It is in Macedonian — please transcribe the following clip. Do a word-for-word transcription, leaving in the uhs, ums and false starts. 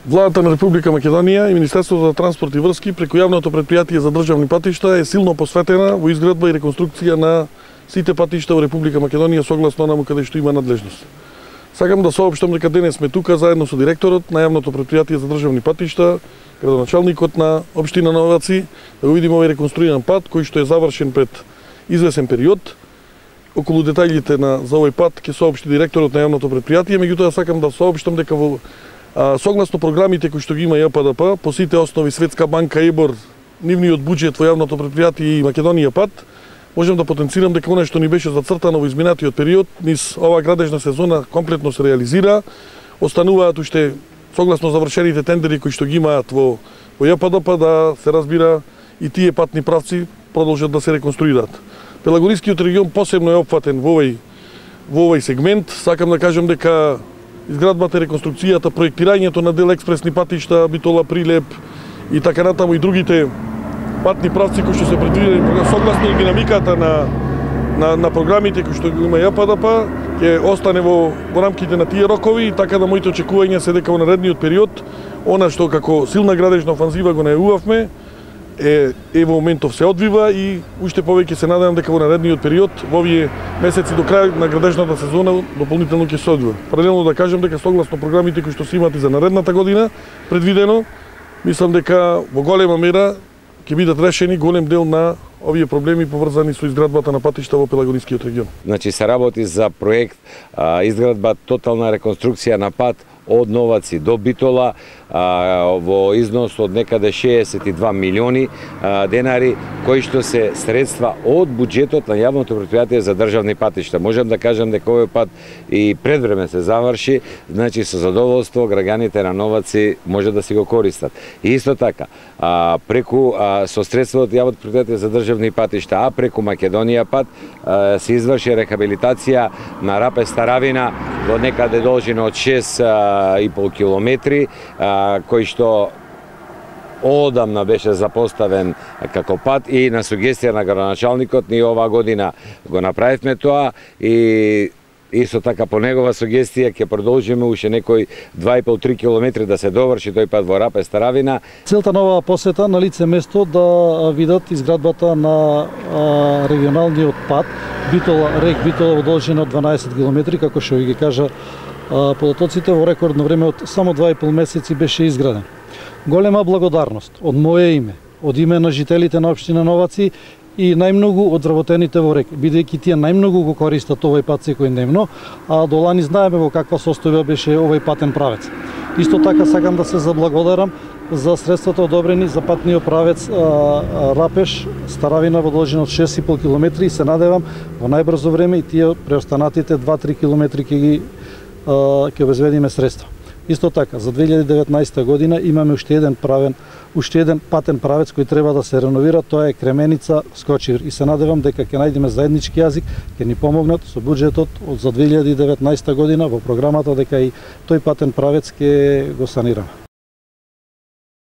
Владата на Република Македонија и Министерството за транспорт и врски преку јавното претпријатие за државни патишта е силно посветена во изградба и реконструкција на сите патишта во Република Македонија согласно онаму каде што има надлежност. Сакам да соопштам дека денес сме тука заедно со директорот на јавното претпријатие за државни патишта, градоначалникот на општина Новаци, да го видиме овој реконструиран пат кој што е завршен пред извесен период. Околу детаљите на за овој пат ќе соопшти директорот на јавното претпријатие, меѓутоа сакам да соопштам дека во А, согласно програмите кои што ги има Ја П Д П, по сите основи Светска банка, ЕБОР, нивниот буџет во јавното претпријатие и Македонија пат, можам да потенцирам дека она што ни беше зацртано во изминатиот период, низ оваа градежна сезона комплетно се реализира. Остануваат уште согласно завршените тендери кои што ги имаат во, во Ја П Д П да се разбира и тие патни правци продолжат да се реконструираат. Пелагорискиот регион посебно е опфатен во овој во овој сегмент. Сакам да кажам дека изградбата, реконструкцијата, проектирањето на дел експресни патишта, Битола, Прилеп и така натаму и другите патни правци кои што се предвидени согласно динамиката на на на програмите кои што има Ја П Д П, ќе остане во во рамките на тие рокови, и така да моите очекувања се дека во наредниот период она што како силна градежна офанзива го најавувавме е е во моментов се одвива и уште повеќе се надевам дека во наредниот период во овие месеци до крај на градежната сезона дополнително ќе се одвива. Паралелно да кажам дека согласно програмите кои што се имат и за наредната година предвидено, мислам дека во голема мера ќе бидат решени голем дел на овие проблеми поврзани со изградбата на патишта во Пелагорискиот регион. Значи се работи за проект а, изградба тотална реконструкција на пат од Новаци до Битола а, во износ од некаде шеесет и два милиони а, денари, кои што се средства од буџетот на јавното претпријатие за државни патишта. Можам да кажам дека овој пат и предвреме се заврши, значи со задоволство граѓаните на Новаци може да си го користат. И исто така, а, преку а, со средства од јавното претпријатие за државни патишта, а преку Македонија пат а, се изврши рехабилитација на Рапе Старавина во некаде должина од шест и пол километри, кој што одамна беше запоставен како пат, и на сугестија на градоначалникот ние оваа година го направивме тоа, и исто така по негова сугестија ќе продолжиме уште некои два и пол до три километри да се доврши тој пат во Рапе Старавина. Целта на оваа посета на лице место да видат изградбата на а, регионалниот пат Битола Рек Битола во должина од дванаесет километри, како што ви ги кажа податоците, во рекордно време од само два и пол месеци беше изграден. Голема благодарност од моје име, од име на жителите на општина Новаци и најмногу од вработените во Рек, бидејќи тие најмногу го користат овој пат секојдневно, а до лани знаеме во каква состојба беше овој патен правец. Исто така сакам да се заблагодарам за средствата одобрени за патниот правец а, а, Рапеш Старавина во должина од шест и пол километри, и се надевам во најбрзо време и тие преостанатите два до три километри ќе ги ќе обезбедиме средства. Исто така, за две илјади и деветнаесета година имаме уште еден правен, уште еден патен правец кој треба да се реновира, тоа е Кременица Скочивир, и се надевам дека ќе најдеме заеднички јазик, ќе ни помогнат со буџетот од за две илјади и деветнаесета година во програмата дека и тој патен правец ќе го санираме.